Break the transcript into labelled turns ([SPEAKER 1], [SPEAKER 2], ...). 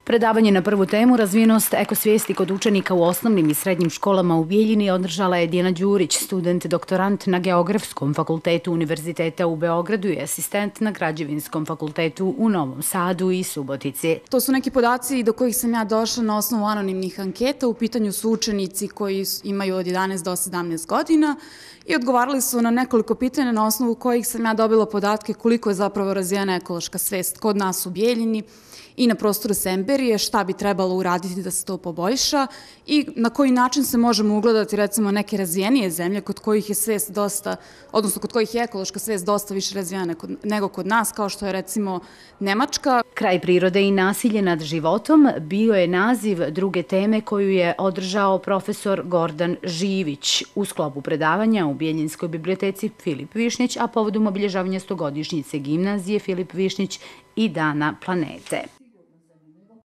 [SPEAKER 1] Predavanje na prvu temu razvijenost ekosvijesti kod učenika u osnovnim i srednjim školama u Bijeljini održala je Dijana Đurić, student doktorant na Geografskom fakultetu Univerziteta u Beogradu i asistent na Građevinskom fakultetu u Novom Sadu i Subotici.
[SPEAKER 2] To su neki podaci do kojih sam ja došla na osnovu anonimnih anketa. U pitanju su učenici koji imaju od 11 do 17 godina i odgovarali su na nekoliko pitanja na osnovu kojih sam ja dobila podatke koliko je zapravo razvijena ekološka svest kod nas u Bijeljini i na prostoru Semberije, šta bi trebalo uraditi da se to poboljša i na koji način se možemo ugledati recimo neke razvijenije zemlje kod kojih je svest dosta, odnosno kod kojih je ekološka svest dosta više razvijena nego kod nas, kao što je recimo Nemačka.
[SPEAKER 1] Kraj prirode i nasilje nad životom bio je naziv druge teme koju je održao profesor Gordan Živić u sklopu predavanja u Bijeljinskoj biblioteci Filip Višnjić, a povodom obilježavanja 100-godišnjice gimnazije Filip Višnjić i Dana planete.